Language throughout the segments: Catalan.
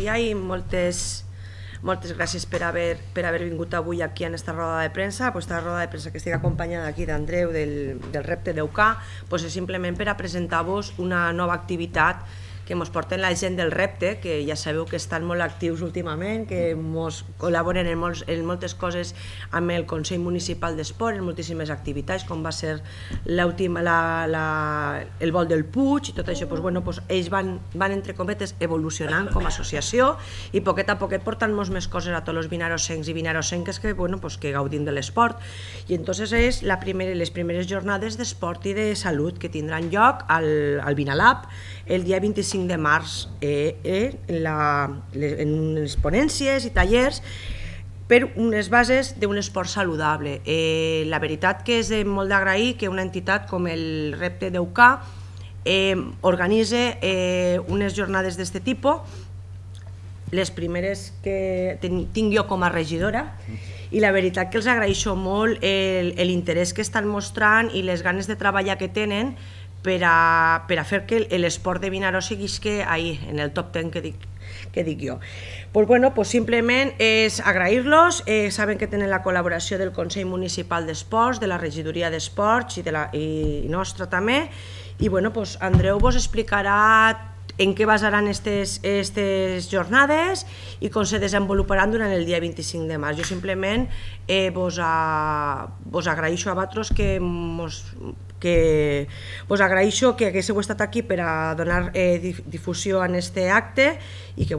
dia i moltes gràcies per haver vingut avui aquí en esta roda de premsa. Aquesta roda de premsa que estic acompanyada aquí d'Andreu del repte d'EUK és simplement per a presentar-vos una nova activitat que ens porten la gent del repte, que ja sabeu que estan molt actius últimament, que ens col·laboren en moltes coses amb el Consell Municipal d'Esport, en moltíssimes activitats, com va ser el vol del Puig i tot això. Ells van, entre cometes, evolucionant com a associació i poquet a poquet portant molts més coses a tots els vinarosencs i vinarosenques que gaudim de l'esport. I entonces és les primeres jornades d'esport i de salut que tindran lloc al Vinalab el dia 25 de març en unes ponències i tallers per unes bases d'un esport saludable. La veritat que és molt d'agrair que una entitat com el repte d'EUK organitza unes jornades d'aquest tipus, les primeres que tinc jo com a regidora, i la veritat que els agraeixo molt l'interès que estan mostrant i les ganes de treballar que tenen per a fer que l'esport de Vinaròs seguís en el top 10 que dic jo. Simplement és agrair-los, saben que tenen la col·laboració del Consell Municipal d'Esports, de la Regidoria d'Esports i nostra també, i Andreu vos explicarà en què basaran aquestes jornades i com se desenvoluparan durant el dia 25 de març. Jo simplement vos agraeixo a vosaltres que haguéssiu estat aquí per a donar difusió a aquest acte i que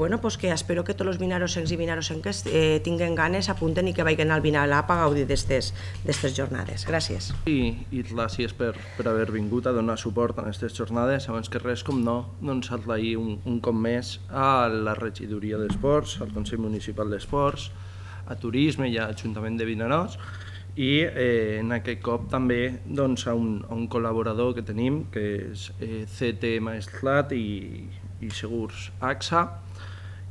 espero que tots els vinarosencs i vinarosenques tinguen ganes, apunten i que vagin al Vinalab a gaudir d'aquestes jornades. Gràcies. I gràcies per haver vingut a donar suport a aquestes jornades. Abans que res, com no, doncs agrair un cop més a la Regidoria d'Esports, al Consell Municipal d'Esports, a Turisme i a l'Ajuntament de Vinaròs, i en aquest cop també a un col·laborador que tenim, que és CT Maestrat i Segurs AXA,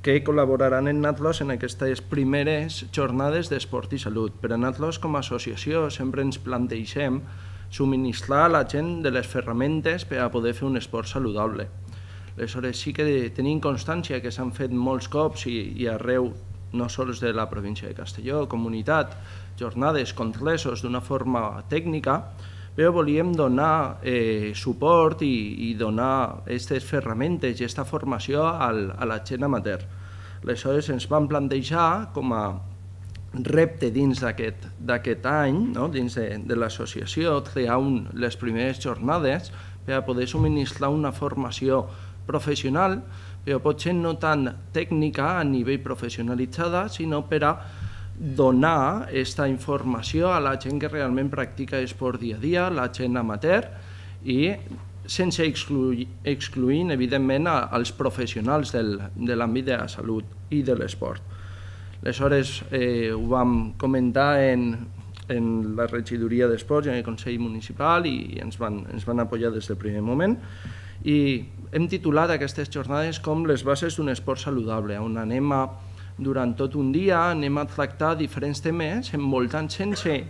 que col·laboraran amb nosaltres en aquestes primeres jornades d'esport i salut. Per a nosaltres, com a associació, sempre ens plantegem subministrar a la gent de les ferramentes per a poder fer un esport saludable. Aleshores, sí que tenim constància que s'han fet molts cops i arreu, no sols de la província de Castelló, comunitat, jornades concretes d'una forma tècnica, però volíem donar suport i donar aquestes ferramentes i aquesta formació a la gent amateur. Aleshores ens vam plantejar com a repte dins d'aquest any, dins de l'associació, crear les primeres jornades per a poder subministrar una formació professional, però potser no tan tècnica a nivell professionalitzada, sinó per a donar aquesta informació a la gent que realment practica esport dia a dia, la gent amateur, i sense excloent, evidentment, els professionals de l'àmbit de la salut i de l'esport. Aleshores, ho vam comentar en la Regidoria d'Esports i en el Consell Municipal i ens van apoyar des del primer moment, i hem titulat aquestes jornades com les bases d'un esport saludable, on anem durant tot un dia anem a tractar diferents temes envoltant sense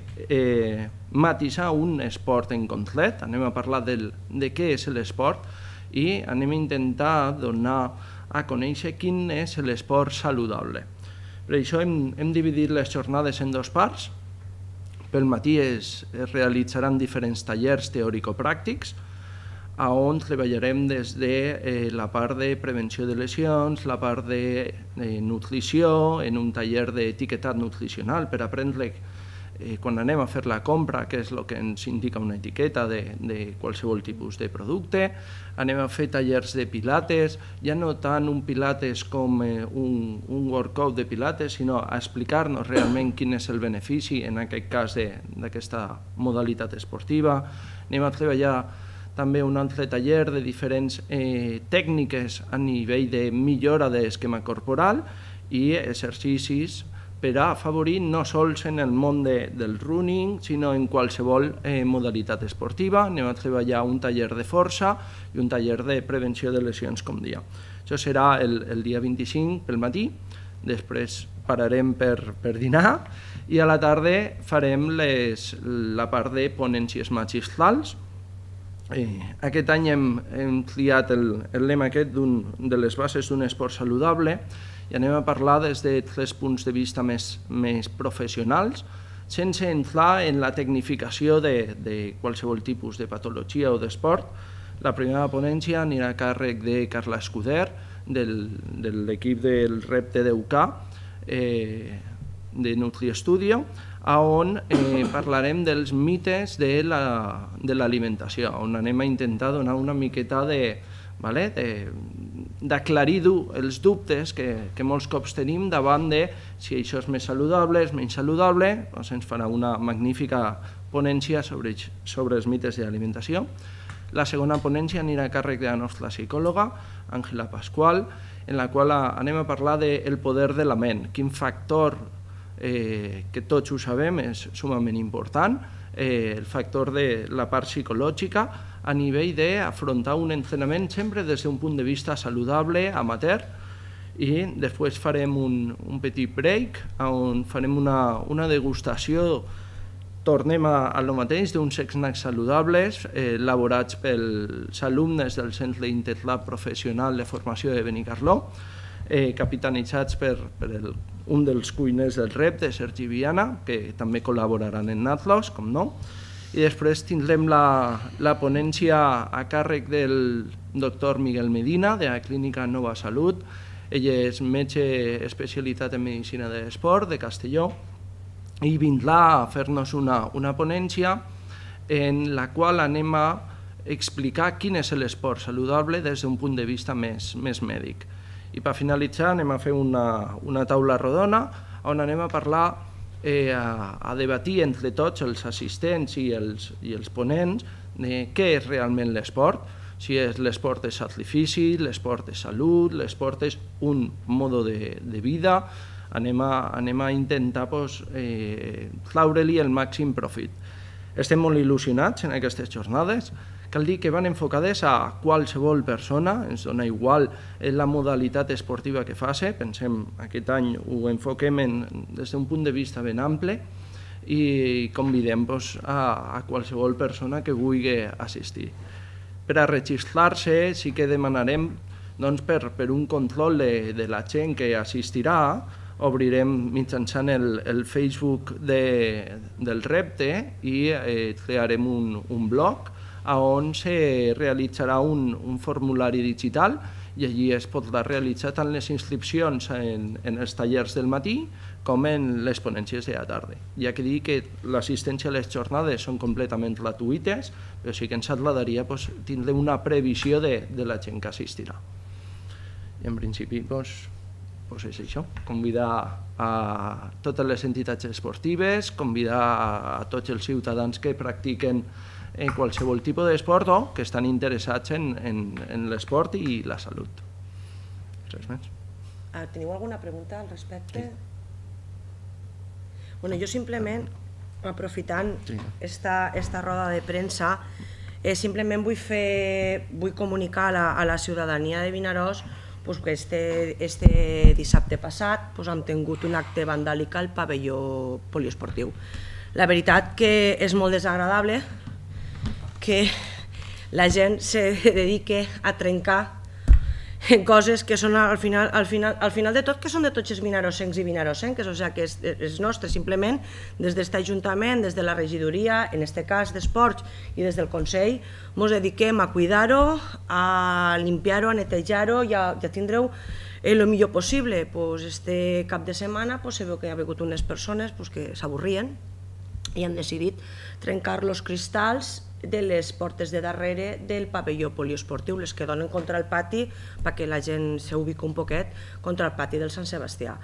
matisar un esport en concret, anem a parlar de què és l'esport i anem a intentar donar a conèixer quin és l'esport saludable. Per això hem dividit les jornades en dues parts. Pel matí es realitzaran diferents tallers teòrico-pràctics on treballarem des de la part de prevenció de lesions, la part de nutrició, en un taller d'etiquetat nutricional per aprendre quan anem a fer la compra què és el que ens indica una etiqueta de qualsevol tipus de producte. Anem a fer tallers de pilates, ja no tant un pilates com un workout de pilates, sinó a explicar-nos realment quin és el benefici, en aquest cas, d'aquesta modalitat esportiva. Anem a treballar també un altre taller de diferents tècniques a nivell de millora de l'esquema corporal i exercicis per a afavorir no sols en el món del running, sinó en qualsevol modalitat esportiva. Anem a treballar un taller de força i un taller de prevenció de lesions, com dia. Això serà el dia 25 pel matí, després pararem per dinar i a la tarda farem la part de ponències magistrals. Aquest any hem triat el lema aquest de les bases d'un esport saludable i anem a parlar des de 3 punts de vista més professionals, sense entrar en la tecnificació de qualsevol tipus de patologia o d'esport. La primera ponència anirà a càrrec de Carla Escuder, de l'equip del repte d'UK, de NutriStudio, on parlarem dels mites de l'alimentació, on anem a intentar donar una miqueta d'aclarir els dubtes que molts cops tenim davant de si això és més saludable, és menys saludable. Ens farà una magnífica ponència sobre els mites de l'alimentació. La segona ponència anirà a càrrec de la nostra psicòloga, Àngela Pasqual, en la qual anem a parlar del poder de la ment, quin factor que tots ho sabem és sumament important, el factor de la part psicològica a nivell d'afrontar un entrenament sempre des d'un punt de vista saludable, amateur, i després farem un petit break on farem una degustació, tornem a lo mateix, d'uns snacks saludables elaborats pels alumnes del Centre Interlab Professional de Formació de Benicarló, capitanitzats per un dels cuiners del repte, Sergi Viana, que també col·laboraran en Natlos, com no. I després tindrem la ponència a càrrec del doctor Miguel Medina, de la clínica Nova Salut. Ell és metge especialitat en medicina de l'esport de Castelló i vindrà a fer-nos una ponència en la qual anem a explicar quin és l'esport saludable des d'un punt de vista més mèdic. I per finalitzar anem a fer una taula rodona on anem a parlar, a debatir entre tots els assistents i els ponents de què és realment l'esport, si l'esport és sacrifici, l'esport és salut, l'esport és un mode de vida. Anem a intentar traure-li el màxim profit. Estem molt il·lusionats en aquestes jornades. Cal dir que van enfocades a qualsevol persona, ens dona igual la modalitat esportiva que faci. Pensem, aquest any ho enfoquem des d'un punt de vista ben ample i convidem a qualsevol persona que vulgui assistir. Per a registrar-se sí que demanarem per un control de la gent que assistirà, obrirem mitjançant el Facebook del repte i crearem un blog on se realitzarà un formulari digital i allí es podrà realitzar tant les inscripcions en els tallers del matí com en les ponències de la tarda. Hi ha que dir que l'assistència a les jornades són completament gratuïtes, però sí que ens agradaria tindre una previsió de la gent que assistirà. I en principi és això, convidar a totes les entitats esportives, convidar a tots els ciutadans que practiquen qualsevol tipus d'esport o que estan interessats en l'esport i la salut. Res més. Teniu alguna pregunta al respecte? Jo simplement, aprofitant esta roda de premsa, simplement vull comunicar a la ciutadania de Vinaròs que este dissabte passat hem tingut un acte vandàlic al pavelló poliesportiu. La veritat que és molt desagradable que la gent se dedique a trencar coses que són al final de tot, que són de tots els vinarossencs i vinarossenques, o sigui que és nostre, simplement des d'aquest Ajuntament, des de la regidoria, en aquest cas d'Esports i des del Consell, ens dediquem a cuidar-ho, a limpiar-ho, a netejar-ho i a tindre-ho el millor possible. Este cap de setmana se veu que hi ha hagut unes persones que s'avorrien i han decidit trencar els cristalls de les portes de darrere del pavelló poliesportiu, les que donen contra el pati, perquè la gent s'ubica un poquet contra el pati del Sant Sebastià.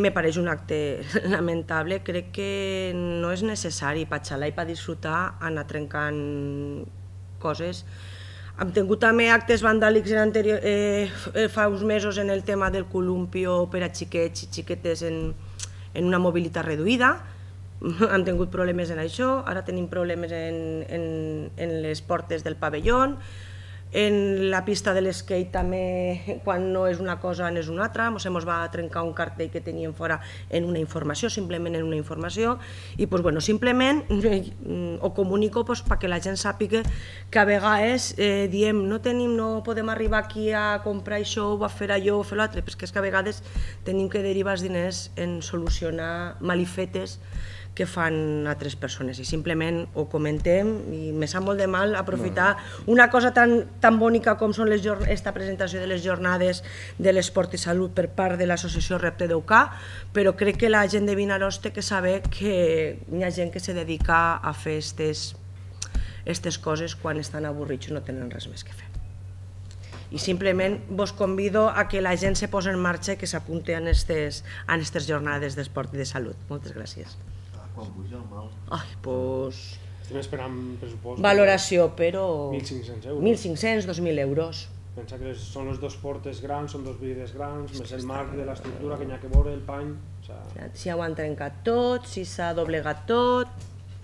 Me pareix un acte lamentable, crec que no és necessari per xalar i per disfrutar anar trencant coses. Hem tingut també actes vandàlics fa uns mesos en el tema del columpio per a xiquets i xiquetes en una mobilitat reduïda. Hem tingut problemes en això, ara tenim problemes en les portes del pavelló. En la pista de l'skate també, quan no és una cosa n'és una altra, ens va trencar un cartell que teníem fora en una informació, simplement en una informació, i simplement ho comunico perquè la gent sàpiga que a vegades diem no podem arribar aquí a comprar això o a fer allò o fer l'altre, perquè és que a vegades tenim que derivar els diners en solucionar malifetes que fan altres persones i simplement ho comentem i me sap molt de mal aprofitar una cosa tan bonica com són esta presentació de les jornades de l'esport i salut per part de l'associació Repte d'Eucà, però crec que la gent de Vinaròs té que saber que hi ha gent que se dedica a fer aquestes coses quan estan avorrits i no tenen res més que fer. I simplement vos convido a que la gent se posi en marxa i que s'apunti a aquestes jornades d'esport i de salut. Moltes gràcies. Quan puja el mal? Estem esperant pressupost. Valoració, però... 1.500 euros. 1.500, 2.000 euros. Pensa que són les dues portes grans, són dues vides grans, més el marc de l'estructura que n'hi ha que veure, el pany... Si ho han trencat tot, si s'ha doblegat tot,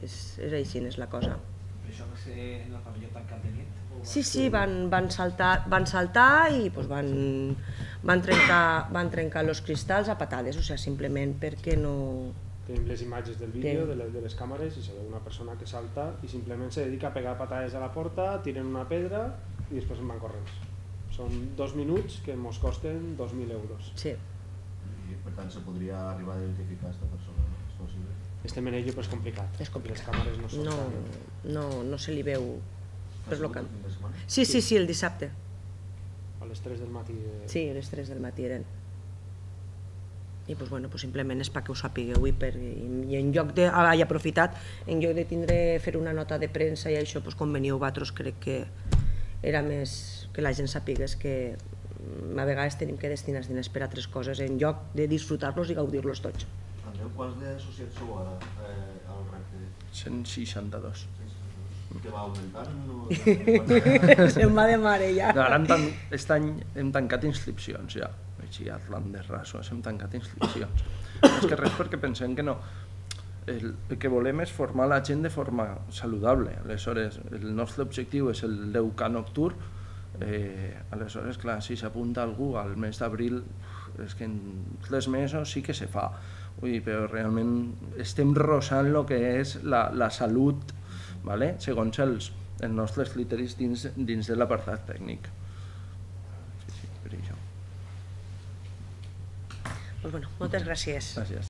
és així, és la cosa. Però això va ser en el pavelló tancat de nit? Sí, van saltar i van trencar els cristalls a patades, simplement perquè no... Tenim les imatges del vídeo, de les càmeres, i se veu una persona que salta i simplement se dedica a pegar patades a la porta, tiren una pedra i després en van corrents. Són 2 minuts que ens costen 2.000 euros. Sí. I per tant se podria arribar a identificar aquesta persona, no? És possible? Estem en ello, però és complicat. És complicat. Les càmeres no són... No se li veu... Sí, el dissabte. A les 3 del matí. Sí, a les 3 del matí eren. I simplement és perquè ho sapigueu i en lloc de, he aprofitat, en lloc de fer una nota de premsa i això, com veniu vosaltres, crec que era més que la gent sapigués que a vegades tenim que destinar els diners per a altres coses en lloc de disfrutar-los i gaudir-los tots. Andreu, quants d'associats sou ara al repte? 162. Que va augmentant? Se'n va de mare ja. Ara aquest any hem tancat inscripcions ja. Així a Atlantes Rasos hem tancat inscripcions. És que res perquè pensem que no. El que volem és formar la gent de forma saludable. Aleshores, el nostre objectiu és el d'Eucà nocturn. Aleshores, clar, si s'apunta algú al mes d'abril, és que en 3 mesos sí que se fa. Però realment estem rosant el que és la salut, segons els nostres criteris dins de l'apartat tècnic. Sí, per això. Moltes gràcies. Gràcies.